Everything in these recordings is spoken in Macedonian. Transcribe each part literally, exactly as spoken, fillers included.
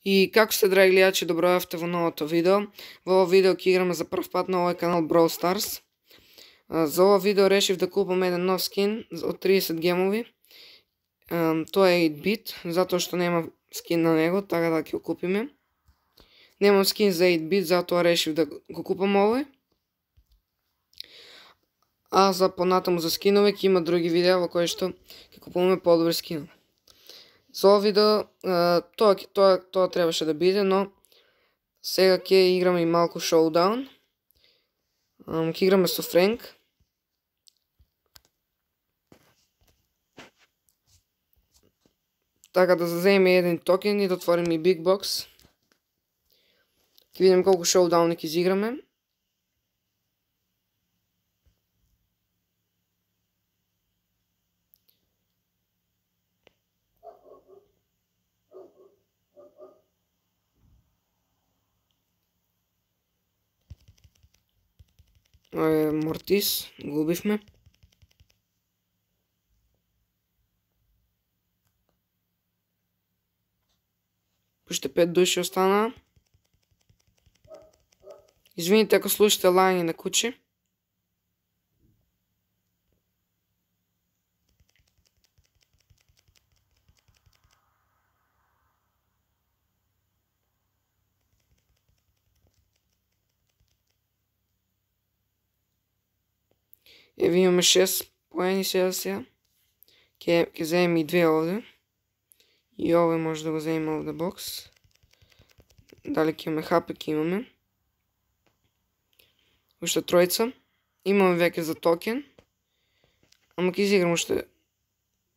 И како сте, драги гледачи, добројавте во новото видео. Во ово видео ќе играме за прв пат на овој канал Brawl Stars. За ово видео решив да купам еден нов скин од тридесет гемови. Тоа е осем бит, затоа што нема скин на него, така да ќе го купиме. Немам скин за осем бит, затоа решив да го купам овој. А за понатаму за скинове ќе има други видеа во кои што ќе купуваме подобри скинови. За ово видео тоа, тоа, тоа требаше да биде, но сега ќе играме и малку шоудаун. Ќе играме со Френк. Така да заземе еден токен и да отвориме и Big Box. Ќе видиме колку шоудауни ќе изиграме. Мортис, го убивме. Уште пет души останаа. Извините ако слушате лајање на кучи. Еве имаме шест поени сега сега. Ке, ке земем и две овде. И овој може да го земеме овде бокс. Дали ќе имаме хапе, ќе имаме. Уште тројца. Имаме веќе за токен. Ама ќе изиграм уште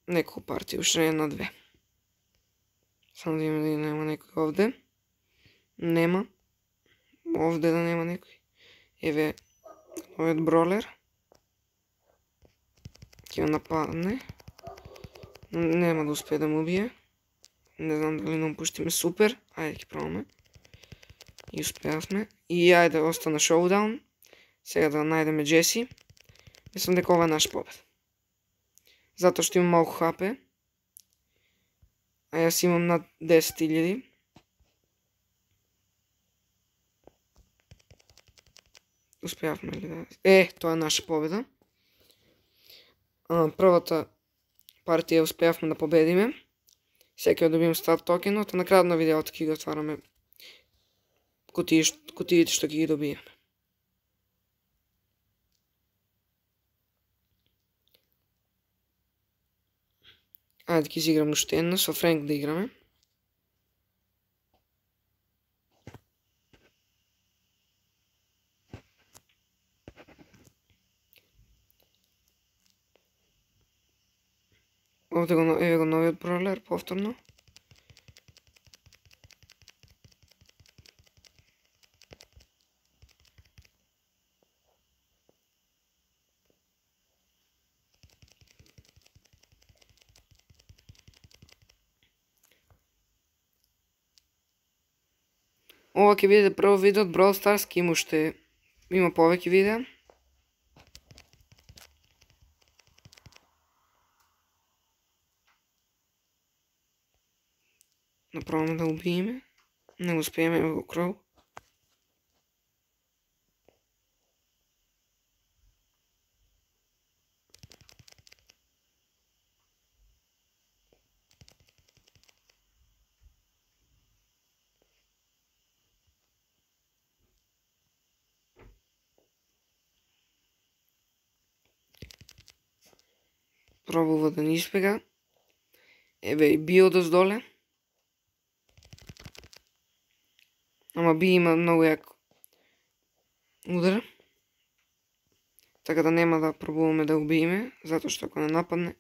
неколку партии, уште една-две. Само да имаме да нема некој овде. Нема. Овде да нема некој. Еве овој бролер. Ќе ја нападне. Нема да успее да му убие. Не знам дали нам пуштиме супер. Ајде ќе пробаме. И успеавме. И ајде остана шоудаун. Сега да најдеме Джеси. Мислам дека ова е наш побед. Затоа што имам малку хапе. А јас имам над десет илјади. Успеавме ли да... Е, тоа е наша победа. Првата партија успеавме да победиме. Сега ќе добием стар токенот, а на крајот на видеото ќе ги отвараме кутиите што ќе ги добиеме. Ајде ќе изиграме уште една, со Френк да играме. Овде го, еве го новиот бролер, повторно. Ова ќе биде прво видео од Brawl Stars, ќе има уште, има повеќе видеа. Направаме да убиеме. Не го успееме во Кроу. Пробува да не испега. Еве и био доздоле. Ама би има многу јак удар. Така да нема да пробуваме да убиеме, затоа што ако не нападне.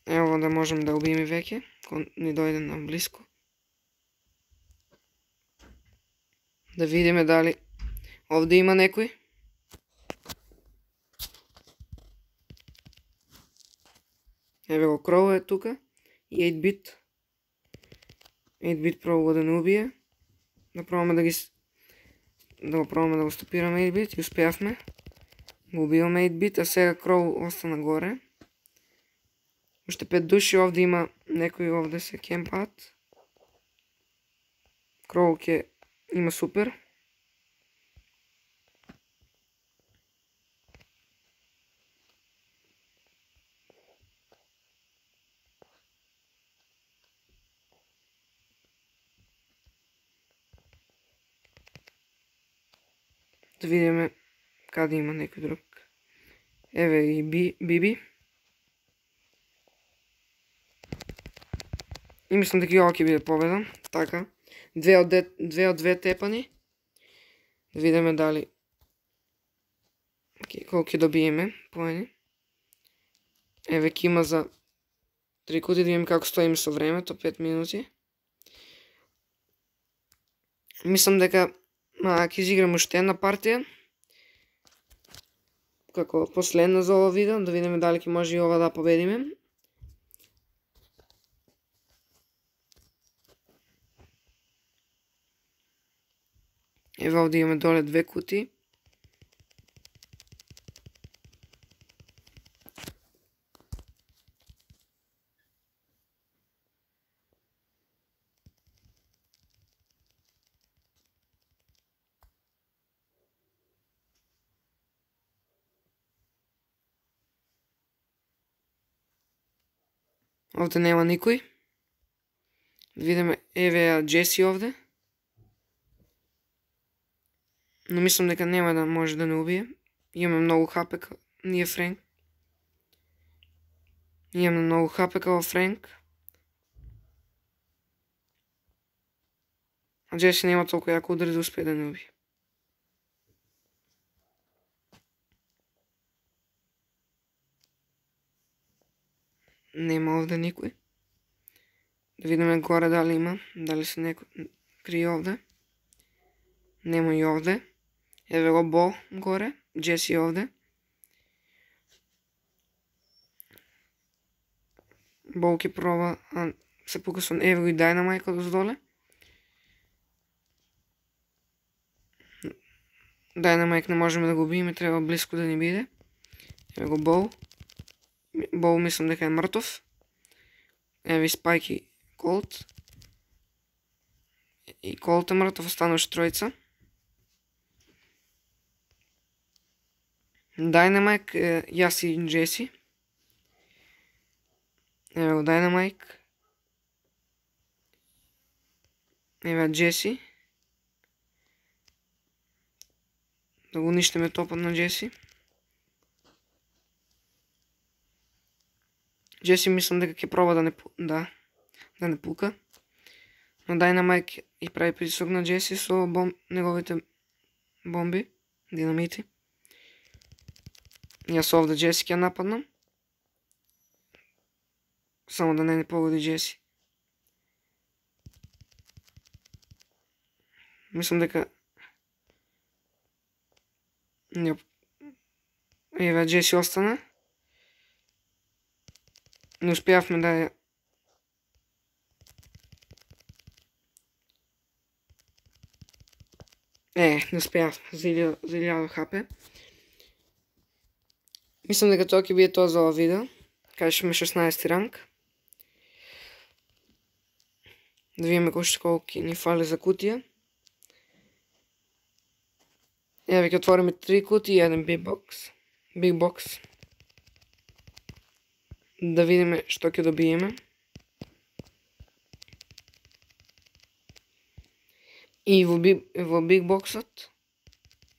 Ево да можем да убиеме веќе, кога ни дојде на блиско. Да видиме дали овде има некој. Еве го Кроу е тука и осем бит. осем бит пробува да не убие. Да пробаме да ги да го пробаме да го стопираме осем бит и успеавме. Го убиваме осем бит, а сега Кроу остана горе. Уште пет души, овде има некои, овде се кемпаат. Кроу ќе има супер. Да видиме каде има некој друг. Еве и Би, Биби. И мислам дека и ова ќе биде победа. Така. Две од, де, две од две тепани. Да видиме дали колку ќе добиеме поени. Еве ќе има за три кути, да видиме како стоиме со времето, пет минути. Мислам дека ќе изиграм уште една партија. Како последна за ова видео, да видиме дали ќе може и ова да победиме. Еве овде имаме доле две кути. Овде нема никој. Видиме, еве ја Джеси овде. Но мислам дека нема да може да не убие. Имаме многу хапе, ние Френк. Имаме многу хапе као Френк. А Джеси нема толку јако удари да успее да не убие. Нема овде никој. Да видиме горе дали има, дали се некој крие овде. Нема и овде. Еве го Бо горе, Джеси овде. Бо ќе проба, а се пука со еве го и Dynamite одоздоле. Dynamite не можеме да го убиеме, треба близко да ни биде. Еве го Бо. Бо мислам дека е мртов. Еве Спайк и Колт. И Колт е мртов, остануваше тројца. Dynamite, јас и Джеси. Еве го Dynamite. Еве Джеси. Да го уништиме топот на Джеси. Джеси мислам дека ќе проба да не да да не пука. Но Dynamite и прави притисок на Джеси со бом, неговите бомби, динамити. Јас овде Джеси ќе нападнам. Само да не не погоди Джеси. Мислам дека еве Джеси остана. Не успеавме да ја Е, не успеавме за илјада хапе. Мислам дека тоа ќе биде тоа за ова видео. Кажешме шеснаесети ранг. Да видиме колку ќе ни фали за кутија. Еве ќе отвориме три кутии и еден биг бокс. Биг бокс. Да видиме што ќе добиеме. И во биг, во биг боксот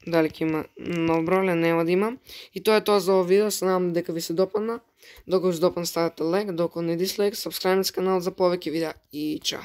дали ќе има нов број, нема да има. И тоа е тоа за ова видео, се надам дека ви се допадна. Доколку ви се допадна, ставете лайк, доколку не дислайк, сабскрајбнете каналот за повеќе видеа и чао.